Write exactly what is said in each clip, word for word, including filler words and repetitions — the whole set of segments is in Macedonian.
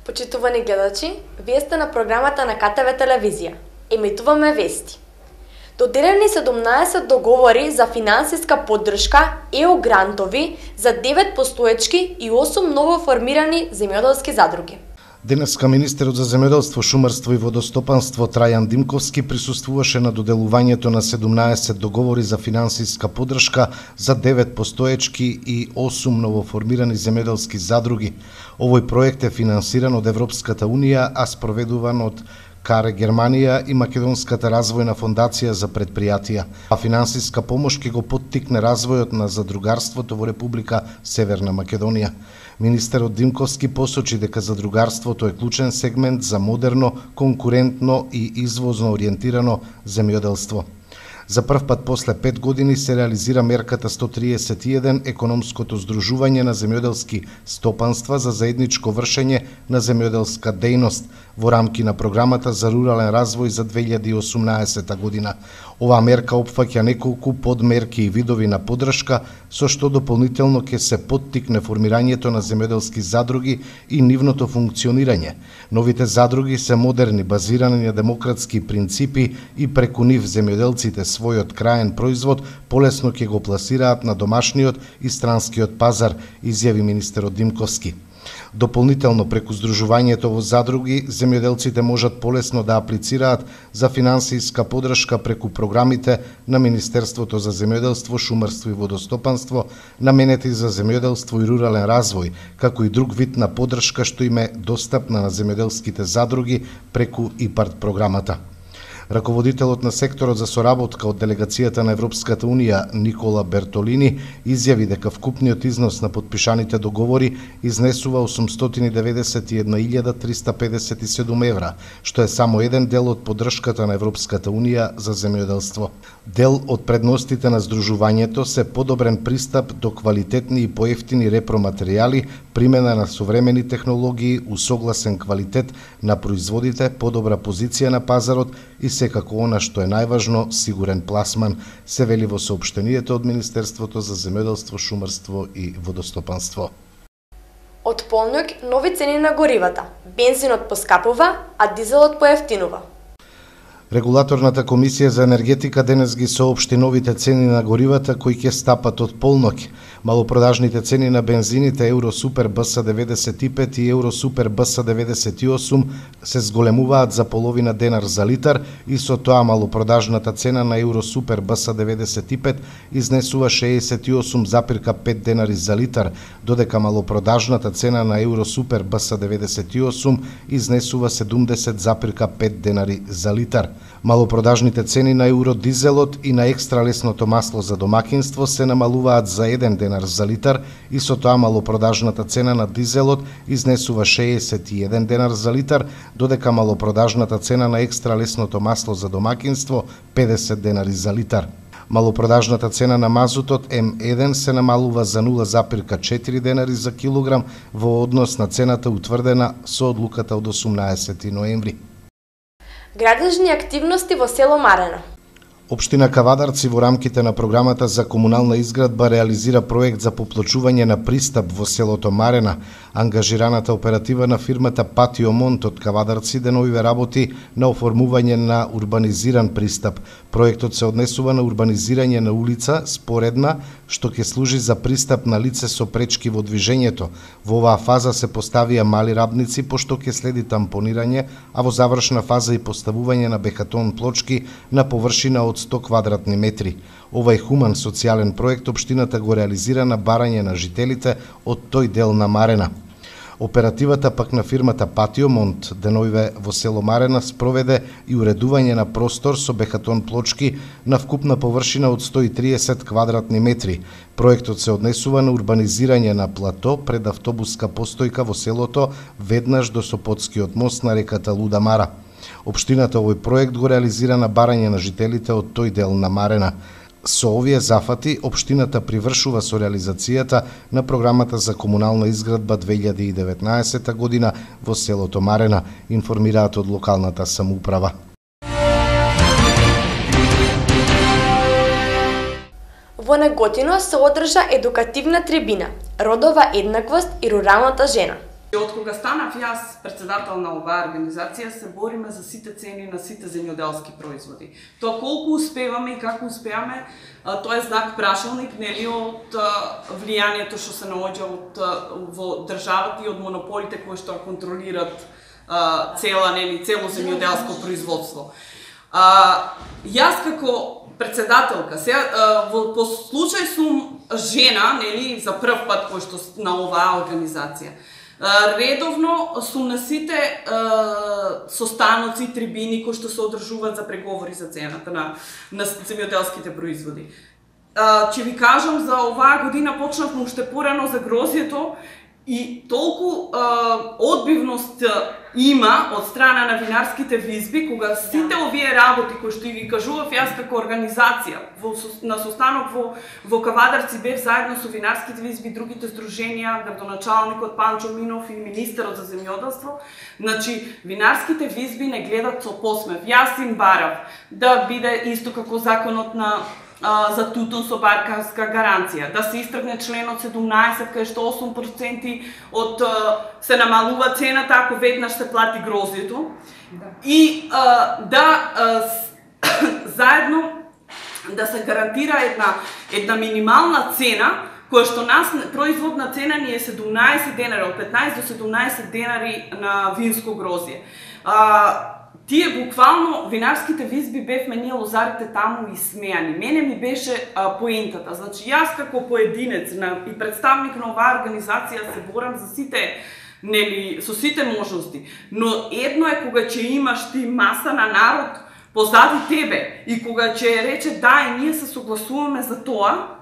Почитувани гледачи, вие сте на програмата на К Т В телевизија. Емитуваме вести. Доделени седумнаесет договори за финансиска поддршка Е У грантови за девет постоечки и осум новоформирани земјоделски задруги. Денеска министерот за земјоделство, шумарство и водостопанство Трајан Димковски присуствуваше на доделувањето на седумнаесет договори за финансиска поддршка за девет постоечки и осум новоформирани земјоделски задруги. Овој проект е финансиран од Европската унија, а спроведуван од КАРЕ Германија и Македонската развојна фондација за предпријатија. А финансиска помош ќе го поттикне развојот на задругарството во Република Северна Македонија. Министерот Димковски посочи дека задругарството е клучен сегмент за модерно, конкурентно и извозно ориентирано земјоделство. За прв пат после пет години се реализира мерката сто триесет и еден економското здружување на земјоделски стопанства за заедничко вршење на земјоделска дејност во рамки на програмата за рурален развој за две илјади и осумнаесета година. Оваа мерка опфаќа неколку подмерки и видови на поддршка, со што дополнително ќе се поттикне формирањето на земјоделски задруги и нивното функционирање. Новите задруги се модерни, базирани на демократски принципи и преку нив земјоделците својот краен производ полесно ќе го пласираат на домашниот и странскиот пазар, изјави министерот Димковски. Дополнително, преку здружувањето во задруги, земјоделците можат полесно да аплицираат за финансиска поддршка преку програмите на Министерството за земјоделство, шумарство и водостопанство, наменети за земјоделство и рурален развој, како и друг вид на поддршка што им е достапна на земјоделските задруги преку ИПАРД програмата. Раководителот на секторот за соработка од делегацијата на Европската унија Никола Бертолини изјави дека вкупниот износ на потпишаните договори изнесува осумстотини деветдесет и една илјада триста педесет и седум евра, што е само еден дел од поддршката на Европската унија за земјоделство. Дел од предностите на здружувањето се подобрен пристап до квалитетни и поевтини репроматеријали, примена на современи технологии, усогласен квалитет на производите, подобра позиција на пазарот и секако она што е најважно, сигурен пласман, се вели во соопштението од Министерството за земјоделство, шумарство и водостопанство. Од полнок нови цени на горивата. Бензинот поскапува, а дизелот поевтинува. Регулаторната комисија за енергетика денес ги соопшти новите цени на горивата кои ќе стапат од полнок. Малопродажните цени на бензините Евро Супер Б С деветдесет и пет и Евро Супер Б С деветдесет и осум се зголемуваат за половина денар за литар и со тоа малопродажната цена на Евро Супер Б С деветдесет и пет изнесува шеесет и осум запирка пет денари за литар, додека малопродажната цена на Евро Супер Б С деветдесет и осум изнесува седумдесет запирка пет денари за литар. Малопродажните цени на евродизелот и на екстралесното масло за домакинство се намалуваат за еден денар за литар и со тоа малопродажната цена на дизелот изнесува шеесет и еден денар за литар, додека малопродажната цена на екстралесното масло за домакинство педесет денари за литар. Малопродажната цена на мазутот М еден се намалува за нула запирка четири денари за килограм во однос на цената утврдена со одлуката од осумнаесети ноември. Градежни активности во село Марена. Општина Кавадарци во рамките на програмата за комунална изградба реализира проект за поплачување на пристап во селото Марена. Ангажираната оператива на фирмата Патио Монт од Кавадарци деновиве работи на оформување на урбанизиран пристап. Проектот се однесува на урбанизирање на улица споредна, што ќе служи за пристап на лице со пречки во движењето. Во оваа фаза се поставија мали рабници, пошто ќе следи тампонирање, а во завршна фаза и поставување на бехатон плочки на површина од сто квадратни метри. Овај хуман социјален проект општината го реализира на барање на жителите од тој дел на Марена. Оперативата пак на фирмата Патио Монт деновиве во село Марена спроведе и уредување на простор со бехатон плочки на вкупна површина од сто и триесет квадратни метри. Проектот се однесува на урбанизирање на плато пред автобуска постојка во селото веднаш до Сопотскиот мост на реката Луда Мара. Општината овој проект го реализира на барање на жителите од тој дел на Марена. Со овие зафати, општината привршува со реализацијата на програмата за комунална изградба две илјади и деветнаесета година во селото Марена, информираат од локалната самоуправа. Во Неготино се одржа едукативна трибина "Родова еднаквост и руралната жена". Од кога станав јас председател на оваа организација, се бориме за сите цени на сите земјоделски производи. Тоа колку успеваме и како успеаме, тоа е знак прашалник, нели, од влијанието што се наоѓа од во државата и од монополите кои што контролираат цела, нели, цело земјоделско производство. А, јас како председателка, сега во по случај сум жена, нели, за прв пат кој што на оваа организација. Редовно сум на сите е, состаноци и трибини кои што се одржуваат за преговори за цената на, на земјоделските производи. Е, ќе ви кажам, за оваа година почнавме уште порано за грозјето и толку е, одбивност има од страна на винарските визби, кога сите овие работи кои што ги кажував јас како организација во, на состанок во, во Кавадарци бев заедно со винарските визби, другите здруженија, градоначалникот Панчо Минов и министерот за земјоделство, значи винарските визби не гледат со посмев. Јас им барав да биде исто како законот на за тутун со барканска гаранција, да се истргне членот седумнаесет, кај што осум проценти од се намалува цената ако веднаш се плати грозјето. Да. И а, да а, заедно да се гарантира една една минимална цена, која што нас производна цена ни е седумнаесет денари, од петнаесет до седумнаесет денари на винско грозје. А, Тие буквално винарските визби бевме ние лозарите таму и смејани. Мене ми беше а, поентата. Значи јас како поединец на, и представник на оваа организација се борам за сите, нели, со сите можности. Но едно е кога ќе имаш ти маса на народ позади тебе и кога ќе рече да и ние се согласуваме за тоа,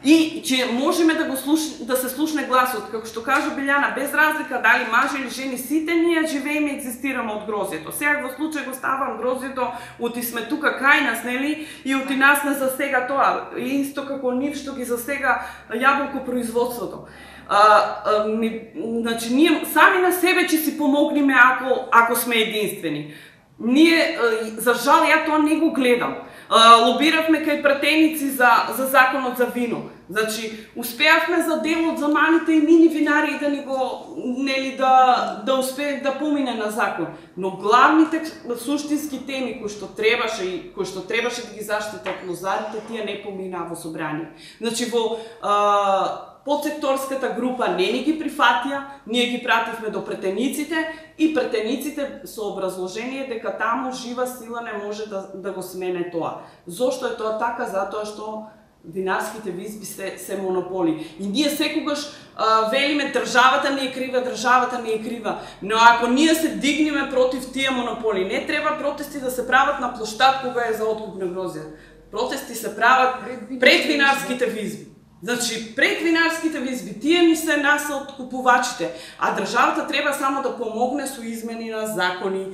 и че можеме да го слуш... да се слушне гласот, како што кажа Билјана, без разлика дали мажи или жени, сите ние живееме и екзистираме од грозјето. Сега во случај го ставам грозјето, оти сме тука кај нас, нели, и оти нас не засега тоа, исто како нив што ги засега јаболко производството. А, а, ми, значи, ние сами на себе ќе си помогнеме ако, ако сме единствени. Ние, за жал, ја тоа не го гледам. Лобиравме кај пратеници за, за законот за вино. Значи, успеавме за делот за малите и мини винари да ни го, нели, да, да успеат да помине на закон. Но главните суштински теми кои што требаше и кои што требаше да ги заштитат лозарите, тие не поминаа во собрание. Значи, во а, подсекторската група не ни ги прифатија, ние ги пративме до претениците и претениците со образложение дека таму жива сила не може да, да го смене тоа. Зошто е тоа така? Затоа што винарските визби се, се монополи. И ние секогаш а, велиме државата не е крива, државата не е крива. Но ако ние се дигнеме против тие монополи, не треба протести да се прават на площад кога е за откуп на грозје. Протести се прават пред винарските визби. Значи, пред винарските визби, тие ни се нас откупувачите, а државата треба само да помогне со измени на закони,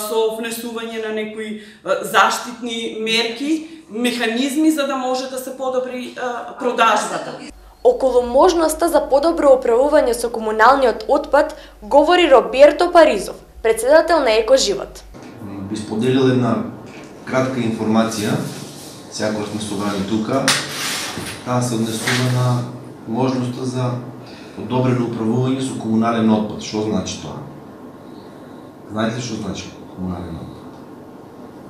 со внесување на некои заштитни мерки, механизми за да може да се подобри продажбата. Околу можноста за подобро управување со комуналниот отпад говори Роберто Паризов, председател на Екоживот. Би споделил една кратка информација, секогаш сме собрани тука. Таа се однесува на можноста за подобрено управување со комунален отпад. Што значи тоа? Знаете ли што значи комунален отпад?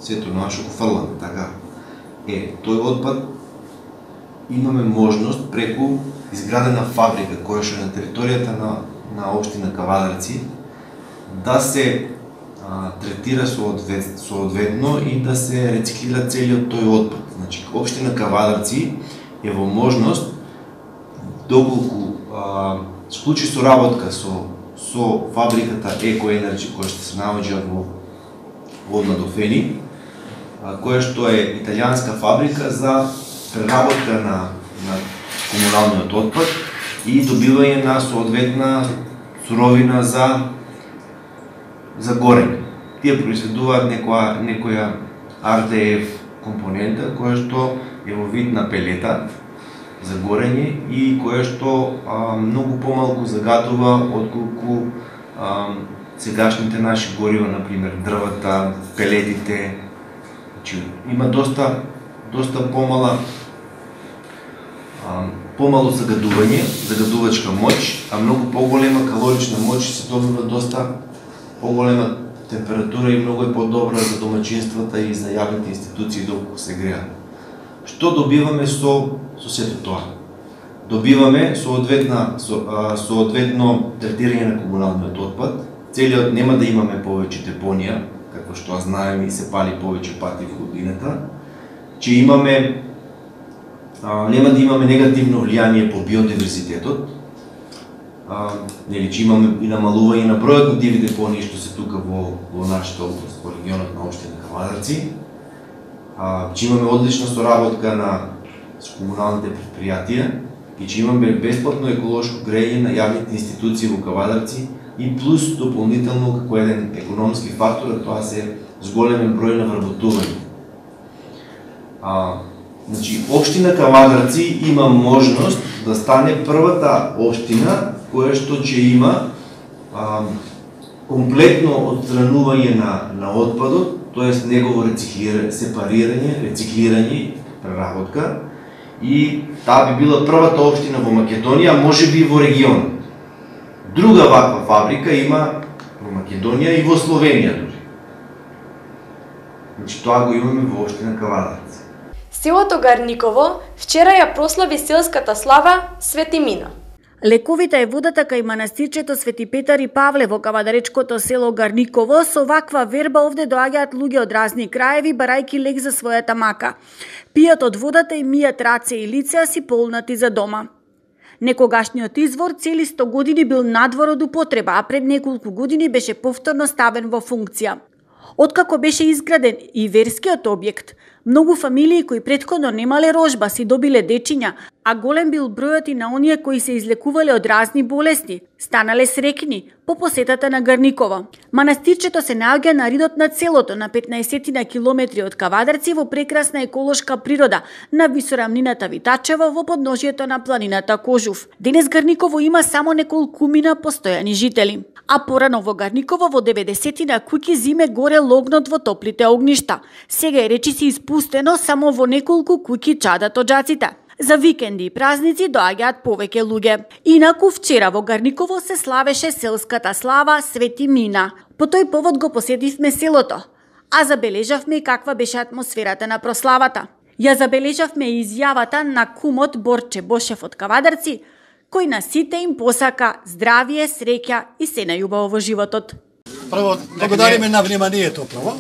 Сето едно што го фрламе, така? Е, тој отпад имаме можност преку изградена фабрика која што е на територијата на, на општина Кавадарци да се а, третира соодветно и да се рециклира целиот тој отпад. Значи, општина Кавадарци е во можност, доколку а, склучи соработка со, со фабриката Еко Енерджи, која што се наоѓа во Водна до Фени, а, која што е италијанска фабрика за преработка на, на комуналниот отпад и добивање на соодветна суровина за, за горење. Тие произведуваат некоја, некоја ар де еф компонента која што е во вид на пелета за горење и која што а, многу помалку загадува отколку а, сегашните наши горива, например дрвата, пелетите. Значи, има доста доста помала а, помало загадување, загадувачка моќ, а многу поголема калорична моќ, се добива доста поголема температура и многу е подобра за домаќинствата и за јавните институции доколку се греат. Што добиваме со со сето тоа? Добиваме соодветна со, а, соодветно третирање на комуналниот отпад. Целиот нема да имаме повеќе депонија, како што знаеме и се пали повеќе пати во годината, че имаме а, нема да имаме негативно влијание по биодиверзитетот. А, нели, че имаме и намалување на бројот на диви депонии што се тука во, во нашата област, во регионот на општина Кавадарци. А, че имаме одлична соработка на с комуналните предпријатија и че имаме бесплатно еколошко грејење на јавните институции во Кавадарци и плюс дополнително како еден економски фактор, тоа се зголемен број на вработување. А, значи, општина Кавадарци има можност да стане првата општина која што ќе има а, комплетно отстранување на, на отпадот, т.е. негово рециклирање, сепарирање, рециклирање, преработка, и таа би била првата општина во Македонија, може би во регион. Друга ваква фабрика има во Македонија и во Словенија дури. Значи тоа го имаме во општина Кавадарци. Селото Гарниково вчера ја прослави селската слава Свети Мина. Лековита е водата кај манастирчето Свети Петар и Павле во кавадаречкото село Гарниково. Со ваква верба овде доаѓаат луѓе од разни краеви, барајки лек за својата мака. Пијат од водата и мијат раце и лица, си полнати за дома. Некогашниот извор цели сто години бил надвор од употреба, а пред неколку години беше повторно ставен во функција. Откако беше изграден и верскиот објект, многу фамилии кои претходно немале рожба си добиле дечиња, а голем бил бројот и на оние кои се излекувале од разни болести, станале срекни по посетата на Гарниково. Манастирчето се наоѓа на ридот на селото, на петнаесет на километри од Кавадарци, во прекрасна еколошка природа, на висорамнината Витачево, во подножието на планината Кожув. Денес Гарниково има само неколкумина постојани жители. А порано во Гарниково во деветдесетина куќи зиме горе логнот во топлите огништа. Сега е речиси испустено, само во неколку куќи чадат оджаците. За викенди и празници доаѓаат повеќе луѓе. Инаку вчера во Гарниково се славеше селската слава Свети Мина. По тој повод го посетивме селото, а забележавме и каква беше атмосферата на прославата. Ја забележавме и изјавата на кумот Борче Бошев од Кавадарци, кој на сите им посака здравие, среќа и се најубаво во животот. Прво, благодариме на вниманието прво.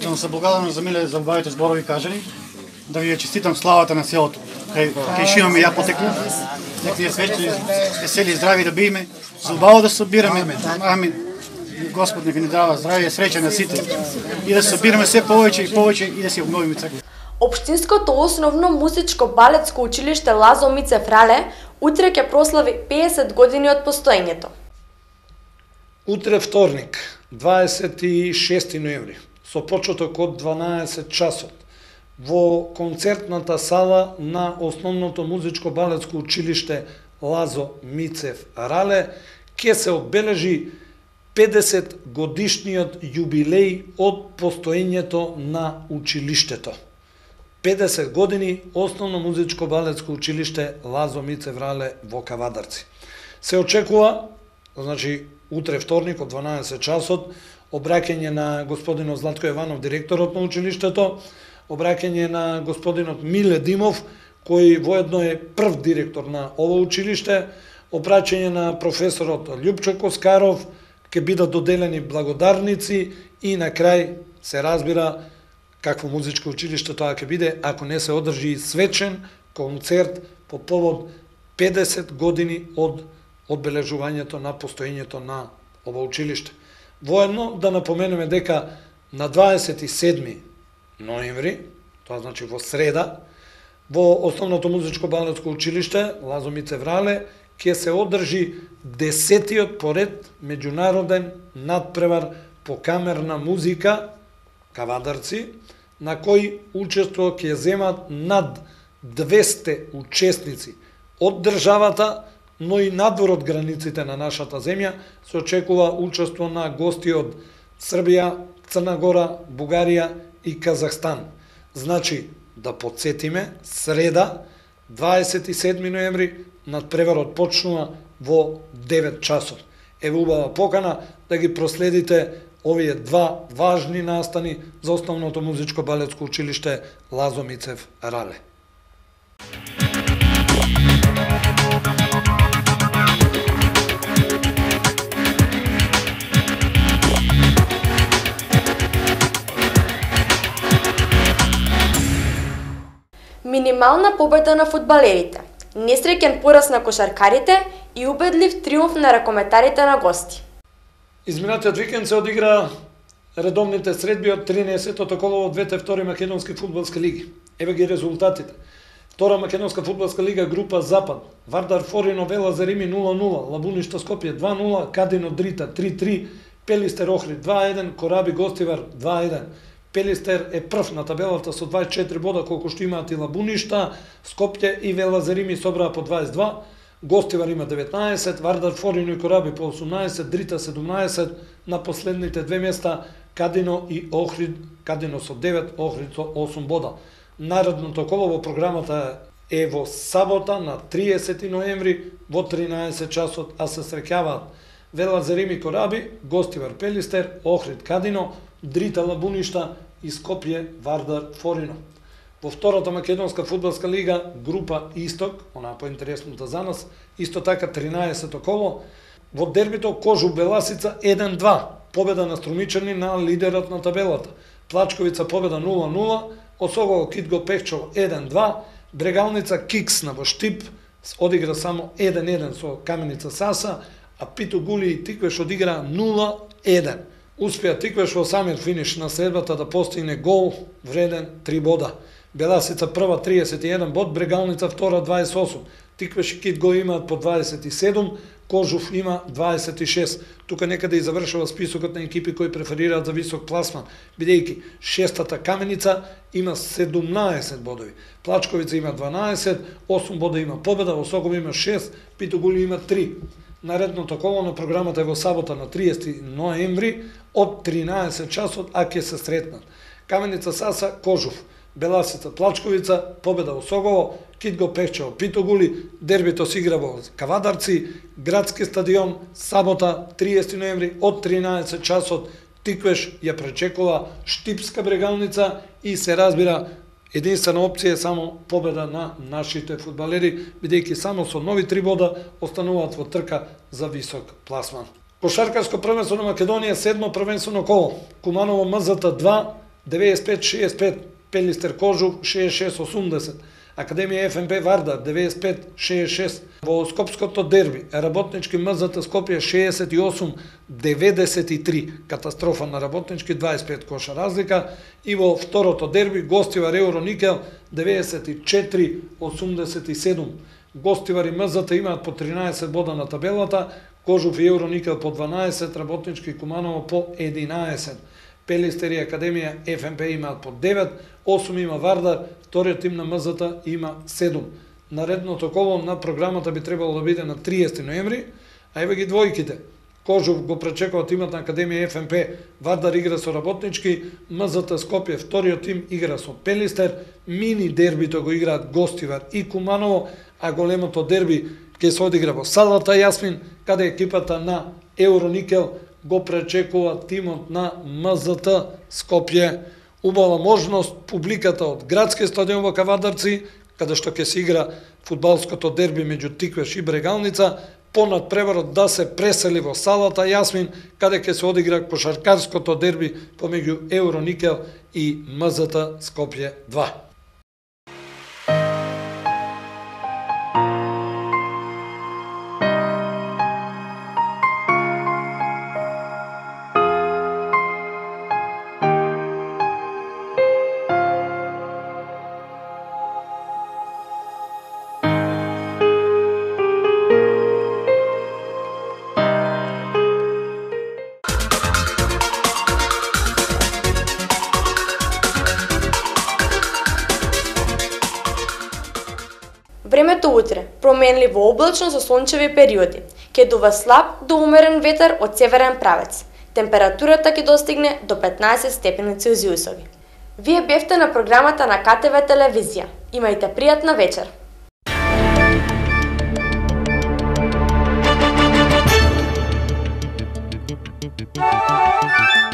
Да се благодарам за миле за убавите зборови кажани. Да ви ја честитам славата на селото. Кај кај шо имаме ја потекло. Нека ви е свечни, весели и здрави да биеме. За убаво да се собираме. Амин. Господ нека ни дава здравие и среќа на сите. И да се собираме се повеќе и повеќе и да се обновиме црква. Општинското основно музичко балетско училиште Лазо Мицев Рале утре ќе прослави педесет години од постоењето. Утре вторник, дваесет и шести ноември, со почеток од дванаесет часот, во концертната сала на основното музичко балетско училиште Лазо Мицев Рале ќе се одбележи педесет годишниот јубилеј од постоењето на училиштето. педесет години основно музичко балетско училиште Лазо Мицев Рале во Кавадарци. Се очекува, значи утре вторник од дванаесет часот, обраќање на господинот Златко Јованов, директорот на училиштето, обраќање на господинот Миле Димов, кој воедно е прв директор на ово училиште, обраќање на професорот Љупчо Коскаров, ќе бидат доделени благодарници и на крај се разбира какво музичко училиште тоа ќе биде ако не се одржи свечен концерт по повод педесет години од одбележувањето на постоењето на ова училиште. Воедно да напоменеме дека на дваесет и седми ноември, тоа значи во среда, во основното музичко балетско училиште Лазо Мицев Рале ќе се одржи десетиот поред меѓународен надпревар по камерна музика Кавадарци, на кој учество ќе земат над двесте учесници од државата, но и надвор од границите на нашата земја. Се очекува учество на гости од Србија, Црна Гора, Бугарија и Казахстан. Значи, да подсетиме, среда, дваесет и седми ноември надпреварот почнува во девет часот. Еве убава покана да ги проследите овие два важни настани за Основното музичко балетско училиште Лазо Мицев Рале. Минимална победа на фудбалерите, несреќен пораз на кошаркарите и убедлив триумф на ракометарите на гости. Изминатиот викенд се одигра редовните средби од тринаесеттото коло во двете втори македонски фудбалски лиги. Еве ги резултатите. Втора македонска фудбалска лига група Запад. Вардар Форино Вела Зарими нула нула, Лабуништа Скопје два нула, Кадино Дрита три три, Пелистер Охрид два еден, Кораби Гостивар два еден. Пелистер е прв на табелата со дваесет и четири бода, колку што имаат и Лабуништа, Скопје и Вела Зарими собраа по дваесет и два, Гостивар има деветнаесет, Вардар Форино и Кораби по осумнаесет, Дрита седумнаесет, на последните две места Кадино и Охрид, Кадино со девет, Охрид со осум бода. Наредното коло во програмата е во сабота на триесети ноември во тринаесет часот, а се среќаваат Вела Зарими Кораби, Гостивар Пелистер, Охрид Кадино, Дрита Лабуништа и Скопје Вардар Форино. Во втората македонска фудбалска лига група Исток, она поинтересната за нас, исто така тринаесето коло, во дербито Кожук Беласица еден два, победа на Струмичани на лидерот на табелата. Плачковица победа нула нула, Осогово Китго Пехчово еден два, Брегалница Кикс на Воштип одигра само еден еден со Каменица Саса, а Пито Гули и Тиквеш одигра нула еден. Успеа Тиквеш во самиот финиш на средбата да постигне гол вреден три бода. Беласица прва триесет и еден бод, Брегалница втора дваесет и осум. Тиквеш и Кит го имаат по дваесет и седум, Кожув има дваесет и шест. Тука некаде и завршува списокот на екипи кои преферираат за висок пласман, бидејќи шестата Каменица има седумнаесет бодови. Плачковица има дванаесет, осум бода има победа, Осоков има шест, Питогули има три. Наредното коло на програмата е во сабота на триесети ноември од тринаесет часот, а ќе се сретнат Каменица Саса Кожув, Беласица Плачковица, победа Осогово, Китго Пехчево Питогули, дербито се игра во Кавадарци, градски стадион, сабота триесети ноември од тринаесет часот. Тиквеш ја пречекува Штипска Брегалница и се разбира единствена опција е само победа на нашите фудбалери, бидејќи само со нови три бода остануваат во трка за висок пласман. Кошаркарско првенство на Македонија, седмо првенствено коло. Куманово МЗТ два, деветдесет и пет шеесет и пет, Пелистер Кожув шеесет и шест осумдесет, Академија еф ем пе Вардар деветдесет и пет шеесет и шест. Во Скопското дерби Работнички МЗТ Скопје шеесет и осум деветдесет и три, катастрофа на Работнички, дваесет и пет коша разлика, и во второто дерби Гостивар Евроникел деветдесет и четири осумдесет и седум. Гостивар и МЗТ имаат по тринаесет бода на табелата, Кожув и Евроникел по дванаесет, Работнички и Куманово по единаесет. Пелистер и Академија еф ем пе имаат по девет, осум има Вардар, вториот тим на МЗТ има седум. Наредното коло на програмата би требало да биде на триесети ноември, а еве ги двојките. Кожув го пречекува тимот на Академија еф ем пе, Вардар игра со Работнички, МЗТ Скопје вториот тим игра со Пелистер, мини дербито го играат Гостивар и Куманово, а големото дерби ќе се одигра во салата Јасмин, каде екипата на Евроникел го пречекува тимот на МЗТ Скопје. Убава можност публиката од градски стадион во Кавадарци, каде што ќе се игра фудбалското дерби меѓу Тиквеш и Брегалница, по надпреварот да се пресели во салата Јасмин, каде ќе се одигра кошаркарското дерби помеѓу Евроникел и МЗТ Скопје два. Времето утре, променливо облачно со сончеви периоди, ќе дува слаб до умерен ветер од северен правец. Температурата ќе достигне до петнаесет степени Целзиусови. Вие бевте на програмата на ка те ве телевизија. Имајте пријатна вечер. Thank you.